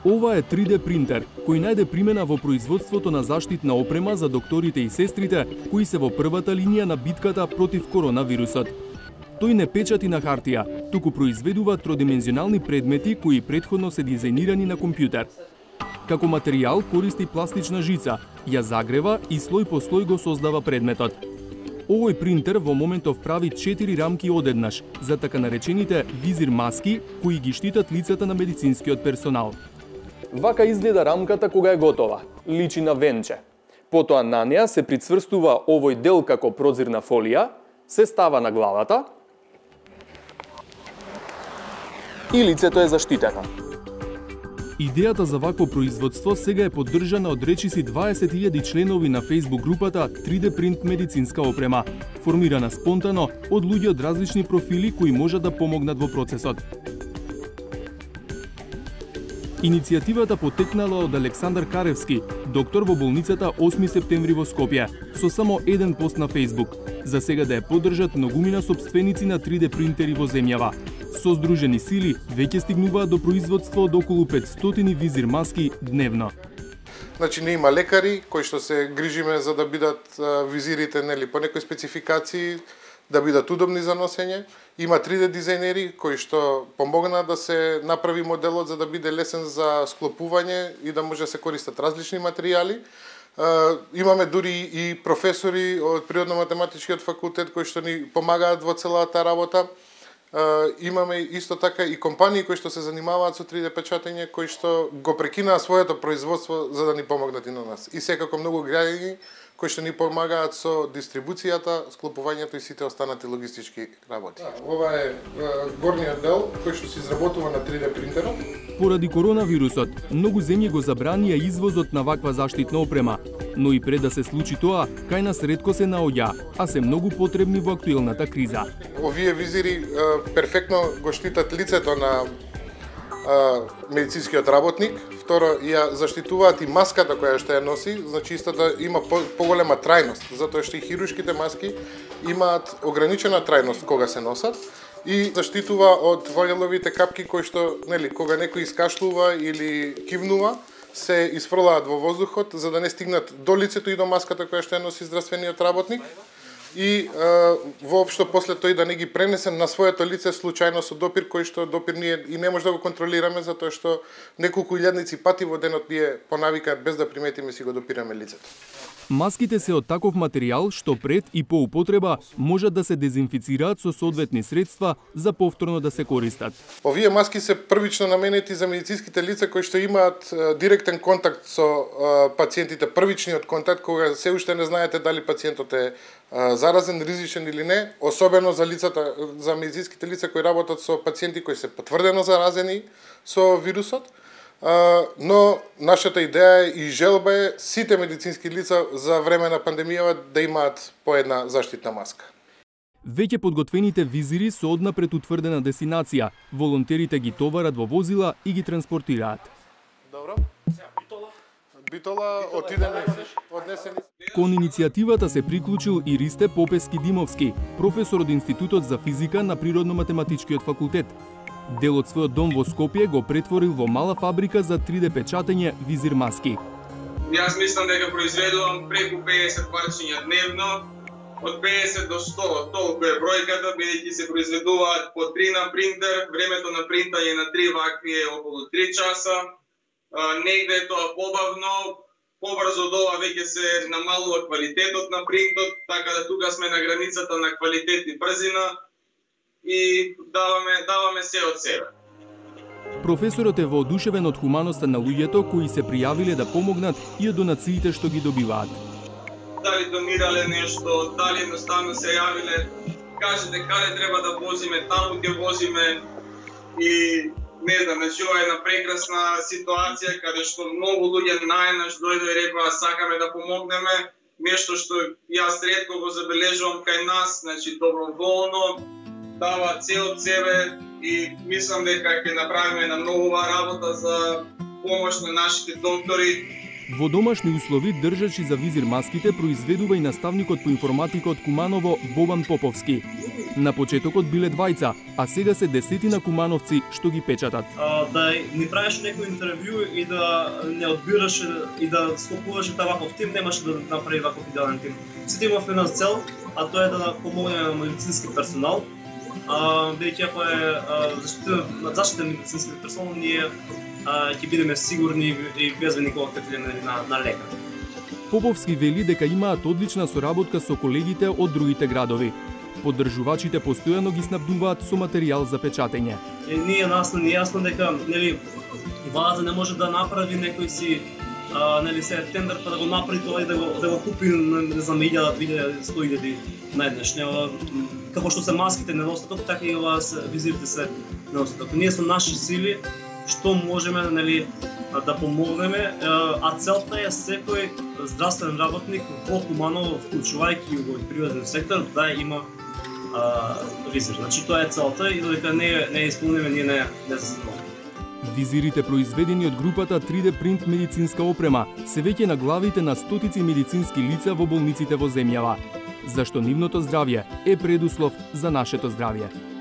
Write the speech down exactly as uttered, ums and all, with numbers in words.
Ова е три де принтер, кој најде примена во производството на заштитна опрема за докторите и сестрите, кои се во првата линија на битката против коронавирусот. Тој не печати на хартија, туку произведува тродимензионални предмети кои претходно се дизајнирани на компјутер. Како материјал користи пластична жица, ја загрева и слој по слој го создава предметот. Овој принтер во моментов прави четири рамки одеднаш за така наречените визир маски кои ги штитат лицата на медицинскиот персонал. Вака изгледа рамката кога е готова. Личи на венче. Потоа на неа се прицврстува овој дел како прозирна фолија, се става на главата и лицето е заштитено. Идејата за вакво производство сега е поддржана од речиси дваесет илјади членови на Facebook групата три де Print медицинска опрема, формирана спонтано од луѓе од различни профили кои можат да помогнат во процесот. Иницијативата потекнала од Александар Каревски, доктор во болницата осми септември во Скопје, со само еден пост на Facebook. За сега да ја поддржат многумина сопственици на три де принтери во земјава. Со здружени сили веќе стигнуваат до производство од околу петстотини визир маски дневно. Значи не има лекари кои што се грижиме за да бидат визирите нели по некои спецификации, да бидат удобни за носење. Има три де дизајнери кои што помогнаа да се направи моделот за да биде лесен за склопување и да може да се користат различни материјали. Имаме дури и професори од Природно-математичкиот факултет кои што ни помагаат во целата работа. Имаме исто така и компании кои што се занимаваат со три де печатење, кои што го прекинаа своето производство за да ни помогнат и на нас. И секако многу граѓани кои што ни помагаат со дистрибуцијата, склопувањето и сите останати логистички работи. Ова е горниот дел кој што се изработува на три де принтерот. Поради коронавирусот, многу земји го забранија извозот на ваква заштитна опрема, но и пред да се случи тоа, кај нас ретко се наоѓа, а се многу потребни во актуелната криза. Овие визири перфектно го штитат лицето на медицинскиот работник, второ ја заштитуваат и маската која што ја носи, значи истата има поголема трајност, затоа што и хируршките маски имаат ограничена трајност кога се носат и заштитува од вајловите капки кои што, нели, кога некој искашлува или кивнува, се изфрлаат во воздухот за да не стигнат до лицето и до маската која што ја носи здравствениот работник. И а, воопшто после тој да не ги пренесе на своето лице случајно со допир кој што допир ние и не може да го контролираме затоа што неколку илјадници пати во денот ние по навика без да приметиме си го допираме лицето. Маските се од таков материјал што пред и по употреба можат да се дезинфицираат со соодветни средства за повторно да се користат. Овие маски се првично наменети за медицинските лица кои што имаат а, директен контакт со а, пациентите, првичниот контакт кога се уште не знаете дали пациентот е а, заразен, ризичен или не, особено за лицата, за медицинските лица кои работат со пациенти кои се потврдено заразени со вирусот. Uh, но нашата идеја и желба е сите медицински лица за време на пандемијава да имаат по една заштитна маска. Веќе подготвените визири со однапред утврдена дестинација, волонтерите ги товарат во возила и ги транспортираат. Добро. Битола. Битола отидеме однесени. Кон иницијативата се приклучил и Ристе Попески Димовски, професор од Институтот за физика на Природно-математичкиот факултет. Дел од својот дом во Скопје го претворил во мала фабрика за три де печатење визир маски. Јас мислам дека произведувам преку педесет парчиња дневно, од педесет до сто, толку е бројката, бидејќи се произведуваат по три на принтер, времето на принтање на три вакви е околу три часа, негде е тоа побавно, побрзо од ова веќе се намалува квалитетот на принтот, така да тука сме на границата на квалитет и брзина, и даваме, даваме се од себе. Професорот е воодушевен од хуманоста на луѓето кои се пријавиле да помогнат и од донациите што ги добиваат. Дали донирале нешто, дали едноставно се јавиле, кажете каде треба да возиме, таму ќе возиме и не знам, значи ова е една прекрасна ситуација каде што многу луѓе најнаш дојдоа и рекоа сакаме да помогнеме, нешто што јас ретко го забележувам кај нас, значи доброволно, дава се од себе и мислам дека ќе направиме една многу работа за помош на нашите доктори. Во домашни услови држачи за визир маските произведува и наставникот по информатика од Куманово Бобан Поповски. На почетокот биле двајца, а сега се десетина кумановци што ги печатат. А, да ни правиш некој интервју и да не одбираш и да склопуваш ваков тим, немаше да направи ваков идеален тим. Сите имавме една цел, а тоа е да помогнеме на медицински персонал. А, бидејќи ако е заштитен медицински персонал, ние ќе бидеме сигурни и безбедни кога ќе отидеме на, на лекар. Поповски вели дека имаат одлична соработка со колегите од другите градови. Поддржувачите постојано ги снабдуваат со материјал за печатење. Е, ние нас не јасно дека нели Ваза не може да направи некој си а, нели се тендер па да го направи тоа и да го да го купи не знам илјада, две илјади, сто илјади најднеш. Како што се маските недостаток, така и ова се визирите се недостаток. Ние со наши сили што можеме нели да помогнеме, а целта е секој здравствен работник во Куманово, вклучувајќи го приватен сектор, да има а, визир. Значи тоа е целта и додека не не исполниме, ние не не се занимаваме. Визирите произведени од групата три де Print медицинска опрема се веќе на главите на стотици медицински лица во болниците во земјава, зашто нивното здравје е предуслов за нашето здравје.